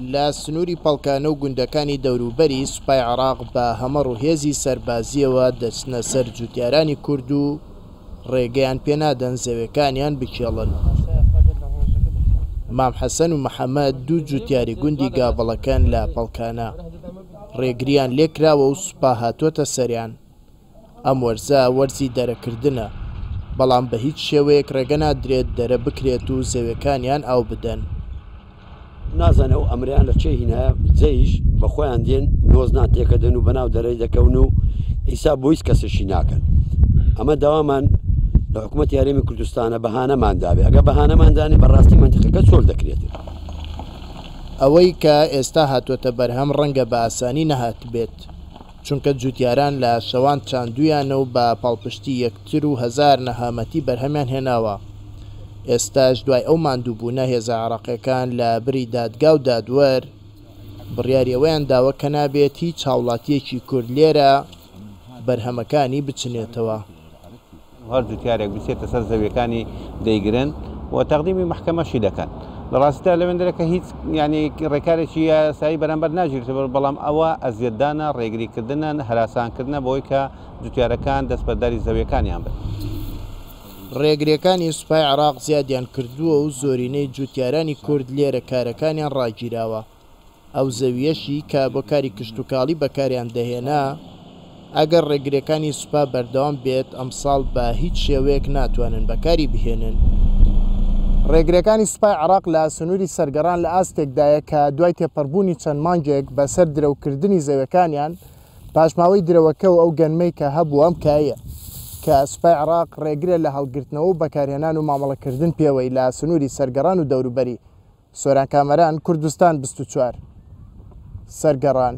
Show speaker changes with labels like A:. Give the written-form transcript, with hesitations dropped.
A: لە سنووری پەڵکانە و گوندەکانی دەوروبەری، سوپای عێراق بە هەمەڕ و هێزی سەربازییەوە دەچنە سەر جووتیارانی کورد و ڕێگەیان پێنادەن زەوێکانیان بکێڵن. مام حەسەن و محەمەد دوو جووتیاری گوندی گاڤڵەکەن لە پەڵکانە. ڕێگرییان لێکراوە و سوپا هاتووەتە سەریان. ئەم وەرزە وەرزی دەرەکردنە، بەڵام بە هیچ شێوەیەک ڕێگە نادرێت دەرە بکرێت و زەوێکانیان ئاو بدەن.
B: نازانێ ئەو ئەمرەیان لە کێ هینایە، جەیش بە خۆیان دێن نۆزنان تێکەدەن و بەناو دەرەی دەکەون و حیساب بۆ هیچ کەسێکی ناکەن. ئەمە داوامان لە حکوومەتی هەرێمی کوردستانە بەهانەمان دابێ، ئەگە بەهانەمان دانێ بەڕاستی مەنتیقەکە چۆل دەکرێتن.
A: ئەوەی کە ئێستا هاتووەتە بەرهەم ڕەنگە بە ئاسانی نەهاتبێت، چونکە جوتیاران لە شەوان چاندویانە و بە پاڵپشتی یەکتر و هەزار نەهامەتی بەرهەمیان هێناوە. ئێستاش دوای ئەو ماندووبوونە هێزە عێراقیەکان لە بری دادگا و دادوەر بڕیاری ئەوەیان داوە کە نابێت هیچ هاوڵاتیەکی کورد لێرە بەرهەمەکانی بچنێتەوە.
C: هەر جوتیارێک بچێتە سەر زەویەکانی دەیگرن و تەقدیمی مەحکەمەشی دەکەن. لە ڕاستیدا لەوێندرە کە هیچ یعنی ڕێکارێکی یاسایی بەرامبەر ناگیرێتەوە، بەڵام ئەوە ئەزیەتدانە، ڕێگریکردنە، هەراسانکردنە بۆی کە جوتیارەکان دەستبەرداری زەویەکانیان بن.
A: ڕێگریەکانی سوپای عێراق زیادیان کردووە و زۆرینەی جوتیارانی کورد لێرە کارەکانیان ڕاگیراوە. ئەو زەوییەشی کە بۆ کاری کشتوکاڵی بەکاریان دەهێنا، ئەگەر ڕێگرییەکانی سوپا بەردەوام بێت، ئەمساڵ بە هیچ شێوەیەک ناتوانن بەکاری بهێنن. ڕێگرییەکانی سوپای عێراق لە سنووری سەرگەڕان لە ئاستێکدایە کە دوای تێپەڕبوونی چەند مانگێک بەسەر درەوکردنی زەویەکانیان، پاشماوەی درەوەکە و ئەو گەنمەی کە هەبوو ئەم کایە کە سوپای عێراق ڕێگرە لە هەڵگرتنەوە و بەکارهێنان و مامەڵەکردن پێوەی لە سنووری سەرگەڕان و دەوروبەری. سۆران کامەران، کوردستان 24، سەرگەڕان.